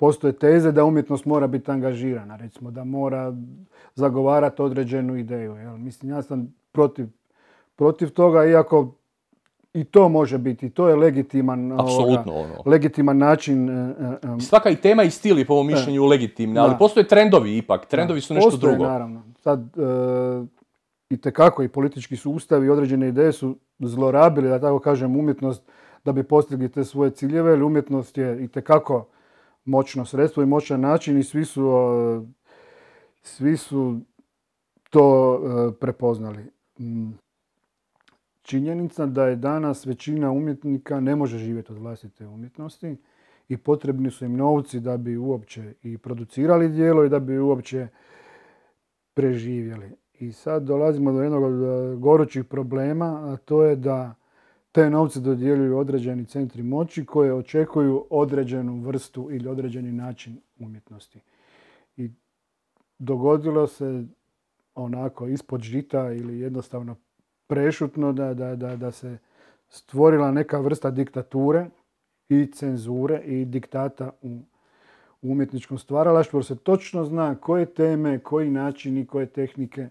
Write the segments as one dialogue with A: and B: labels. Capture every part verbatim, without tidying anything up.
A: postoje teze da umjetnost mora biti angažirana, recimo da mora zagovarati određenu ideju. Jel? Mislim, ja sam protiv, protiv toga, iako i to može biti, to je legitiman,
B: Apsolutno,
A: ovoga,
B: ono.
A: legitiman način. Um,
B: Svaka i tema i stil je po mom mišljenju legitimna, ali
A: da.
B: postoje trendovi ipak, trendovi su nešto
A: postoje,
B: drugo.
A: Naravno. Sad, uh, i tekako i politički sustav i određene ideje su zlorabili, da tako kažem, umjetnost da bi postigli te svoje ciljeve, jer umjetnost je i tekako moćno sredstvo i moćan način i svi su, uh, svi su to uh, prepoznali. Mm. Činjenica da je danas većina umjetnika ne može živjeti od vlastite umjetnosti i potrebni su im novci da bi uopće i producirali djelo i da bi uopće preživjeli. I sad dolazimo do jednog od gorućih problema, a to je da te novce dodjeljuju određeni centri moći koje očekuju određenu vrstu ili određeni način umjetnosti. I dogodilo se onako ispod žita ili jednostavno prešutno da, da, da, da se stvorila neka vrsta diktature i cenzure i diktata u umjetničkom stvaralaštvu, jer se točno zna koje teme, koji načini, koje tehnike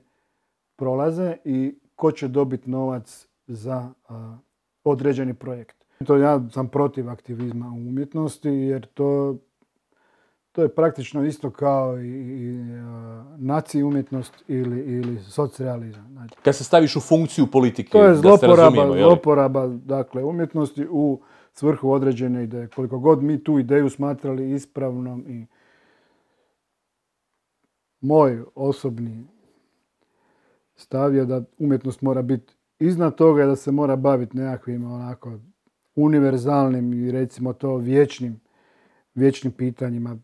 A: prolaze i ko će dobiti novac za a, određeni projekt. To ja sam protiv aktivizma u umjetnosti, jer to, to je praktično isto kao i, i a, naci umjetnost ili, ili socrealizam. Znači,
B: kad se staviš u funkciju politike,
A: to je
B: da se
A: zloporaba,
B: razumijemo, je li?
A: zloporaba dakle, umjetnosti u svrhu određene ideje. Koliko god mi tu ideju smatrali ispravnom i moj osobni stav je da umjetnost mora biti iznad toga i da se mora baviti nekakvim onako univerzalnim i recimo to vječnim, vječnim pitanjima.